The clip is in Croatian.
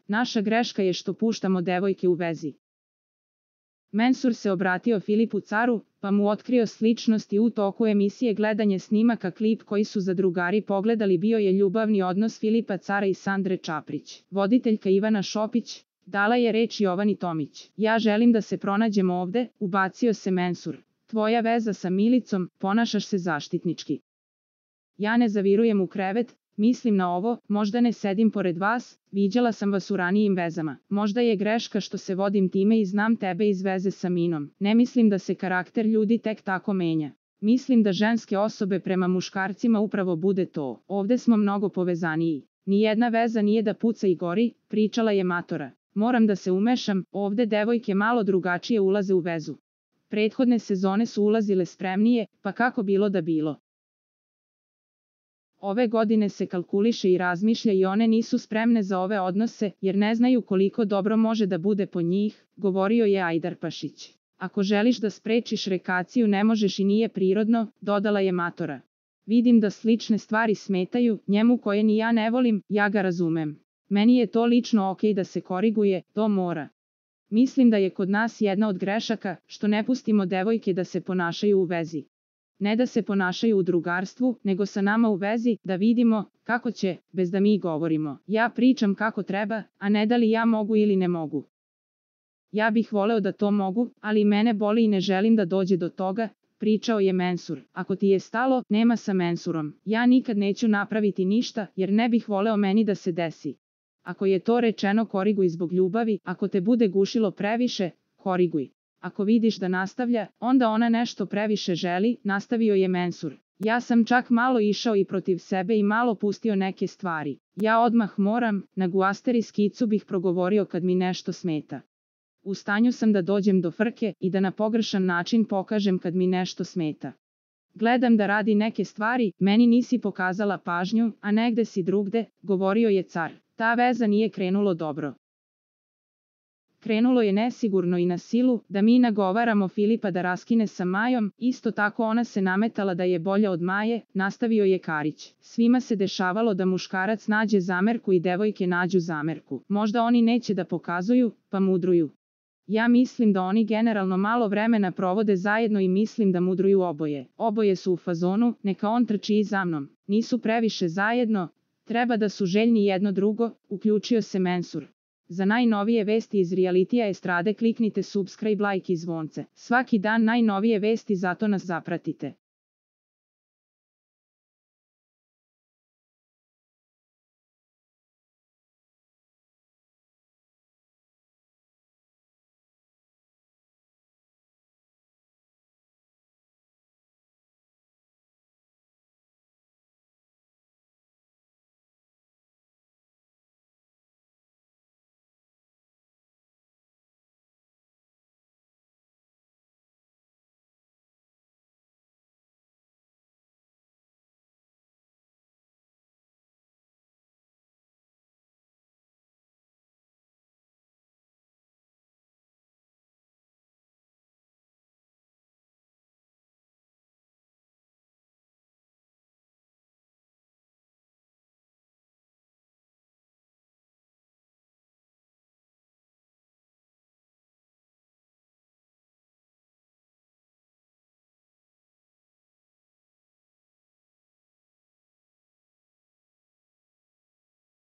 Naša greška je što puštamo devojke u vezi. Mensur se obratio Filipu Caru, pa mu otkrio sličnost i u toku emisije gledanje snimaka klip koji su zadrugari pogledali bio je ljubavni odnos Filipa Cara i Sandre Čaprić. Voditeljka Ivana Šopić dala je reč Jovani Tomić. Ja želim da se pronađemo ovde, ubacio se Mensur. Tvoja veza sa Milicom, ponašaš se zaštitnički. Ja ne zavirujem u krevet, mislim na ovo, možda ne sedim pored vas, viđala sam vas u ranijim vezama. Možda je greška što se vodim time i znam tebe iz veze sa Minom. Ne mislim da se karakter ljudi tek tako menja. Mislim da ženske osobe prema muškarcima upravo bude to. Ovde smo mnogo povezaniji. Nijedna veza nije da puca i gori, pričala je matora. Moram da se umešam, ovde devojke malo drugačije ulaze u vezu. Prethodne sezone su ulazile spremnije, pa kako bilo da bilo. Ove godine se kalkuliše i razmišlja i one nisu spremne za ove odnose, jer ne znaju koliko dobro može da bude po njih, govorio je Ajdarpašić. Ako želiš da sprečiš rekaciju ne možeš i nije prirodno, dodala je matora. Vidim da slične stvari smetaju, njemu koje ni ja ne volim, ja ga razumem. Meni je to lično okej da se koriguje, to mora. Mislim da je kod nas jedna od grešaka, što ne pustimo devojke da se ponašaju u vezi. Ne da se ponašaju u drugarstvu, nego sa nama u vezi, da vidimo kako će, bez da mi govorimo. Ja pričam kako treba, a ne da li ja mogu ili ne mogu. Ja bih voleo da to mogu, ali mene boli i ne želim da dođe do toga, pričao je Mensur. Ako ti je stalo, nema sa Mensurom. Ja nikad neću napraviti ništa, jer ne bih voleo meni da se desi. Ako je to rečeno koriguj zbog ljubavi, ako te bude gušilo previše, koriguj. Ako vidiš da nastavlja, onda ona nešto previše želi, nastavio je Mensur. Ja sam čak malo išao i protiv sebe i malo pustio neke stvari. Ja odmah moram, na guasteri skicu bih progovorio kad mi nešto smeta. U stanju sam da dođem do frke i da na pogrešan način pokažem kad mi nešto smeta. Gledam da radi neke stvari, meni nisi pokazala pažnju, a negde si drugde, govorio je Car. Ta veza nije krenulo dobro. Krenulo je nesigurno i na silu, da mi nagovaramo Filipa da raskine sa Majom, isto tako ona se nametala da je bolja od Maje, nastavio je Karić. Svima se dešavalo da muškarac nađe zamerku i devojke nađu zamerku. Možda oni neće da pokazuju, pa mudruju. Ja mislim da oni generalno malo vremena provode zajedno i mislim da mudruju oboje. Oboje su u fazonu, neka on trči i za mnom. Nisu previše zajedno, treba da su željni jedno drugo, uključio se Mensur. Za najnovije vesti iz realitija estrade kliknite subscribe, like i zvonce. Svaki dan najnovije vesti, zato nas zapratite.